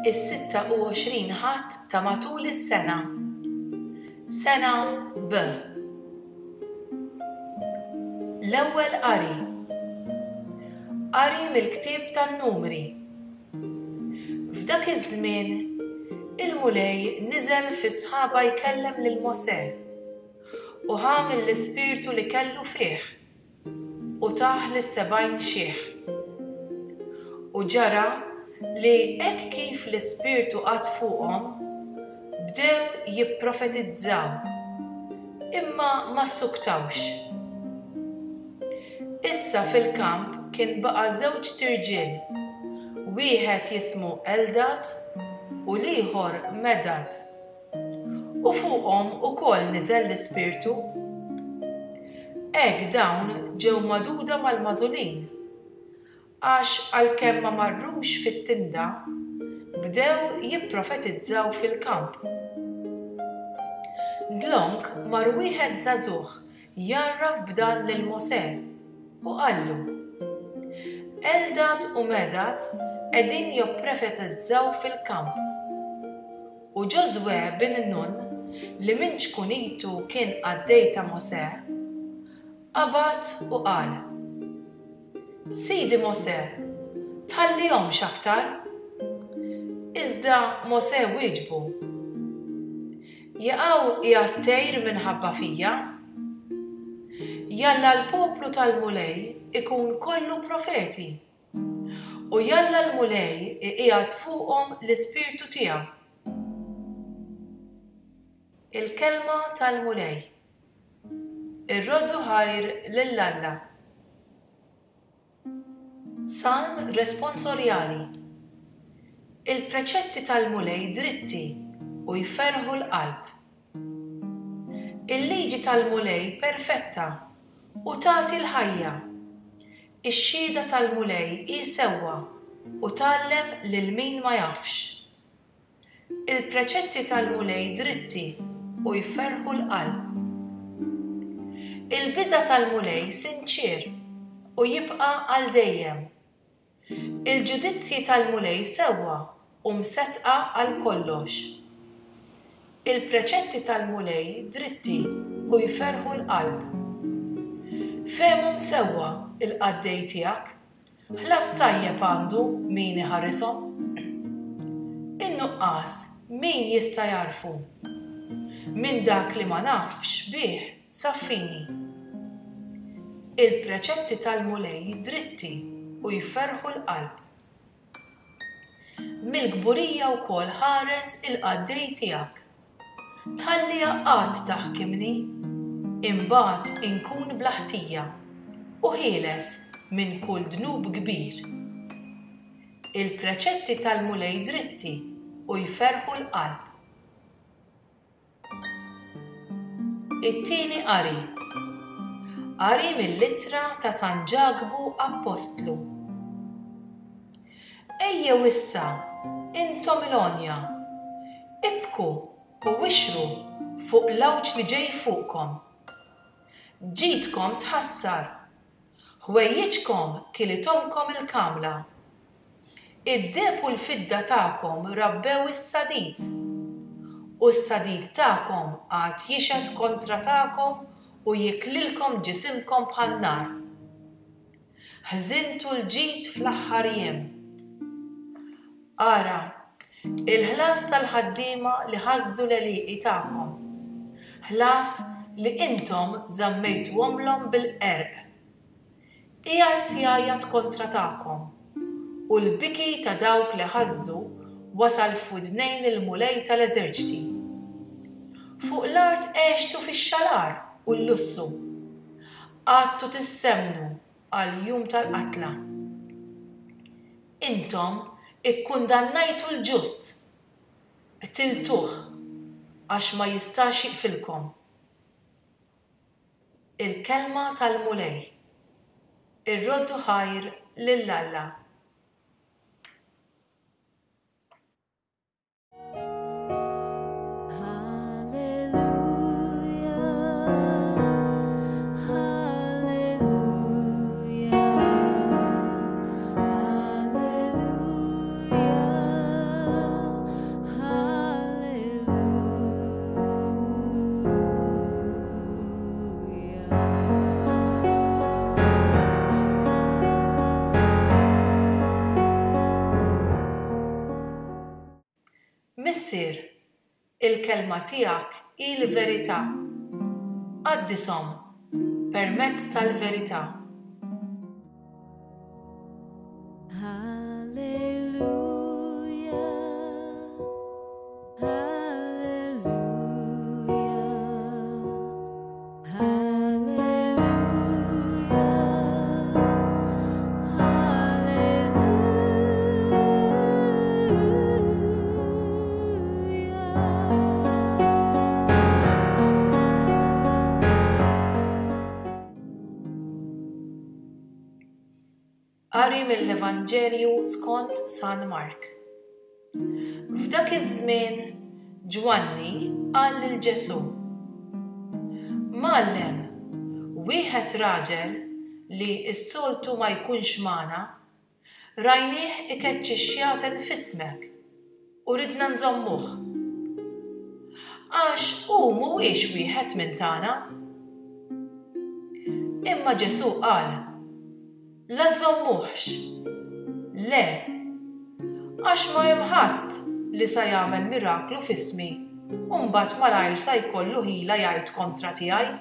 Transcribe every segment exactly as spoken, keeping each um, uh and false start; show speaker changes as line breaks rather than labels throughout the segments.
Is-sitta u għoxrin Ħadd ta' matul is-sena. Sena B. L-ewwel qari. Qari mill-ktieb tan-Numri. F'dak iż-żmien, il-Mulej niżel fis-sħaba jkellem lil Mosè, u ħa mill-ispirtu li kellu fih, u tah lis-sebgħin xiħ. U ġara li hekk kif l-ispirtu qagħad fuqhom, bdew jipprofetizzaw, imma ma ssuktawx. Issa fil-kamp kien baqa' żewġt irġiel, wieħed jismu Eldad u l-ieħor Medad. U fuqhom ukoll niżel l-Ispirtu. Hekk dawn ġew magħduda mal-magħżulin, għax għalkemm ma marrux fit-tinda, bdew jipprofetizzaw fil-kamp. Dlonk mar wieħed żagħżugħ jgħarraf b'dan lil Mosè u qallu, Eldad u Medad qegħdin jipprofetizzaw fil-kamp. U Ġożwè bin Nun, li minn ċkunitu kien qaddej ta' Mosè, qabad u qal, Sidi Mosè, tħallihomx aktar. Iżda Mosè wieġbu, Jaqaw qiegħed tgħir minħabba fija? Jalla l-poplu tal-Mulej ikun kollu profeti, u jalla l-Mulej iqiegħed fuqhom l-ispirtu tiegħu. Il-kelma tal-Mulej. Irroddu ħajr lil Alla. Salm responsorjali. Il-preċetti tal-Mulej dritti u jferrħu l-qalb. Il-liġi tal-Mulej perfetta u tagħti l-ħajja. Ix-xhieda tal-Mulej hi sewwa u tgħallem lil min ma jafx. Il-preċetti tal-Mulej dritti u jferrħu l-qalb. Il-biża' tal-Mulej sinċier u jibqa' għal dejjem. Il-ġudizzji tal-Mulej sewwa u mseddqa għal kollox. Il-preċetti tal-Mulej dritti u jferrħu l-qalb. Fehmhom sewwa il-qaddej tiegħek, ħlas tajjeb għandu min iħarishom. In-nuqqas min jista' jagħrfu? Minn dak li ma nafx bih saffini. Il-preċetti tal-Mulej dritti u jferrħu l-qalb. Mill-kburija wkoll ħares il-qaddej tiegħek. Tħalliha qatt taħkimni, imbagħad inkun bla ħtija u ħieles minn kull dnub kbir. Il-preċetti tal-Mulej dritti u jferrħu l-qalb. It-tieni qari. Qari mill-ittra ta' San Ġakbu Appostlu. Ejjew issa, intom il-għonja, ibku u wixru fuq l-għawġ li ġej fuqkom. Ġidkom tħassar, ħwejjiġkom kilithomkom il-kamla. Id-deheb u l-fidda tagħkom rabbew is-sadid, u s-sadid tagħkom għad jixhed kontra tagħkom u jiklilkom ġisimkom bħan-nar. Ħżintu l-ġid fl-aħħar jiem. Ara, il-ħlas tal-ħaddiema li ħasdu l-għelieqi tagħkom, ħlas li intom żammejtuhomlhom bil-qerq. Qiegħed jgħajjat kontra tagħkom, u l-biki ta' dawk li ħasdu wasal f'widnejn il-Mulej tal-eżerċti. Fuq l-art għextu fix-xalar u l-lussu, qgħadtu tissemmnu għall-jum tal-qatla. Intom ikkundannajtu l-ġust, qtiltuh għax ma jistax jiqfilkom. Il-kelma tal-Mulej. Irroddu ħajr lil Alla.
Hallelujah, hallelujah, hallelujah.
Missier, il-kelma tiegħek hi l-verità. Qaddishom permezz tal-verità. Qari mill-Evanġelju skont San Mark. F'dak iż-żmien Ġwanni qal lil Ġesù: Mgħallem, wieħed raġel li s-soltu ma jkunx magħna, rajnieh ikeċċi x-xjaten f'ismek u ridna nżommuh. Għax hu mhuwiex wieħed minn tagħna. Imma Ġesù qal: La żżommuhx. Le, għax ma hemm ħadd li sa jagħmel miraklu f'ismi u mbagħad malajr sa jkollu ħila jgħid kontra tiegħi.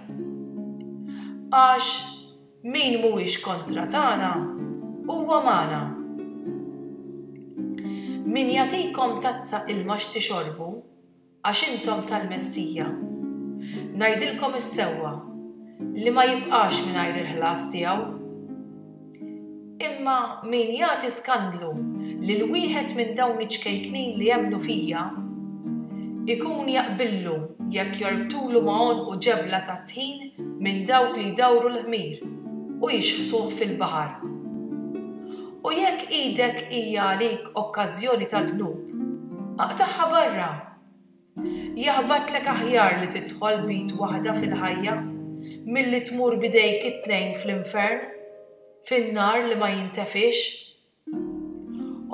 Għax min mhuwiex kontra tagħna huwa magħna. Min jagħtikom tazza ilma x'tixorbu għax intom tal-Messija, ngħidilkom is-sewwa li ma jibqax mingħajr il-ħlas tiegħu. Imma min jagħti skandlu lil wieħed minn dawn iċ-ċkejknin li jemmnu fija, ikun jaqbillu jekk jorbtulu ma' għonqu ġebla tat-tħin minn dawk li jdawru l-ħmir u jixħtuh fil-baħar. U jekk idek hija għalik okkażjoni ta' dnub, aqtagħha barra. Jaħbatlek aħjar li tidħol b'id waħda fil-ħajja milli tmur b'idejk it-tnejn fl-infern, fin-nar li ma jintefix.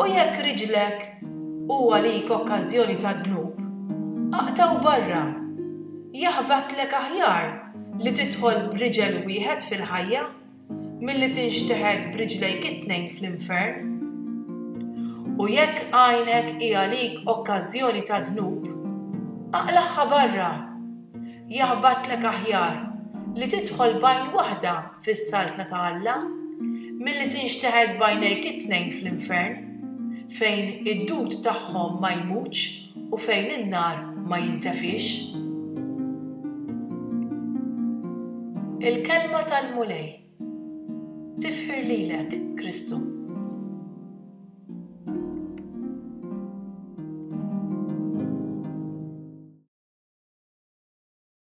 U jekk riġlek hu għalik okkażjoni ta' dnub, aqtgħu barra. Jaħbatlek aħjar li tidħol b'riġel wieħed fil-ħajja milli tinxteħet b'riġlejk it-tnejn fl-infern. U jekk għajnek hi għalik okkażjoni ta' dnub, aqlagħha barra. Jaħbatlek aħjar li tidħol b'għajn waħda fis-saltna ta' Alla milli tinxteħet b'għajnejk it-tnejn fl-infern, fejn id-dud tagħhom ma jmutx u fejn in-nar ma jintefix. Il-kelma tal-Mulej. Tifħir lilek, Kristu.